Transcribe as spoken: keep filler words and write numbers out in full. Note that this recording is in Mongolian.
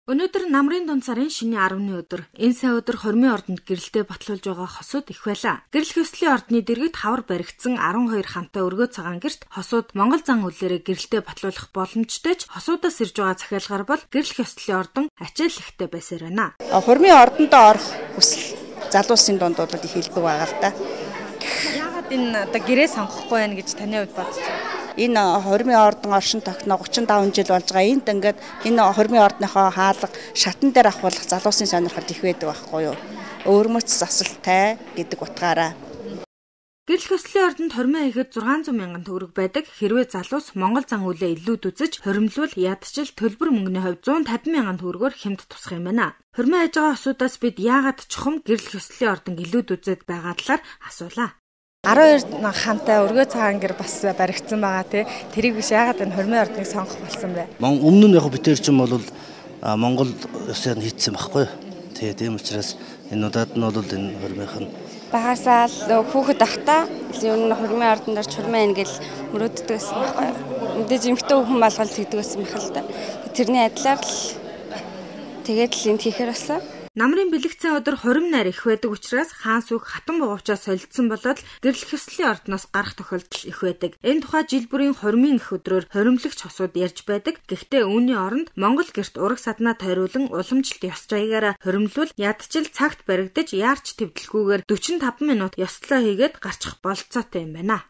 Өнөөдөр намрын дунд сарын шинэ арваны өдөр. Энэ сая өдөр Хормын ордонд гэрэлтэй батлуулж байгаа хосууд их байлаа. Гэрэл хөслийн ордны дэргэд хавар баригдсан арван хоёр хантай өргөө цагаан гэрт хосууд Монгол зан үлээрээ гэрэлтэй батлуулах боломжтой ч хосуудаас ирж байгаа захиалгаар бол гэрэл хөслийн ордон ачаал ихтэй байсаар байна. Хормын ордонд орох хүсэл залуусын дунд бол их хэлбэг байгаа л да. Яагаад энэ одоо гэрээ сонгохгүй байна гэж таны хувьд бодож байна? Энэ Хормын ордон оршин тогтноо гучин таван жил болж байгаа. Энд ингээд энэ Хормын ордныхоо хаалга шатан дээр авахулах залуусын сонирхол их байдаг байхгүй юу? Өөрмөц засалтай гэдэг утгаараа. Гэрэл хөслийн ордонд хормын хийхэд зургаан зуун мянган төгрөг байдаг. Хэрвээ залуус Монгол зан үлээ илүүд үзэж хоримлвол ядчил төлбөр мөнгөний хувьд зуун тавин мянган төгрөгөөр хямд тусах юм байна. Хормын хийж байгаа осуудаас бид яагаад чухам гэрэл хөслийн ордон илүүд үзээд байгаа талаар асуулаа. арван хоёр хантай өргөө цагаан гэр бас баригдсан байгаа тий. Тэрийг биш яагаад энэ Хормын ордныг сонгох болсон бэ? Өмнө нь яг битэр ч юм бол Монгол ёсоор хийцсэн байхгүй. Тэгээ тийм учраас энэ удаад нь бол энэ Хормынх нь багасаа л хүүхэд ахта ер нь Хормын ордонд орч Хормын ингээл мөрөөддөг гэсэн байхгүй. Мэдээж эмхтэй хүн болгол тэгдэг гэсэн юм хэл та. Тэрний адилаар л тэгээд л энд хийхээр болсон. Намрын бэлэгцэн өдөр хорим найр их байдаг учраас хаан сүх хатан богоочоо солилцсон болоод гэрэл хөслийн ордноос гарах тохиолдол их байдаг. Энэ тухай жил бүрийн Хормын их өдрөөр хоримлогч хосууд ярьж байдаг. Гэхдээ үүний оронд Монгол гэрт ураг саднаа тойруулан уламжлалт ёс жаягаараа хоримлвол ядчил цагт баригдаж яарч твдэлгүйгээр дөрвөн таван минут ёслоо хийгээд гарчих болцоотой юм байна.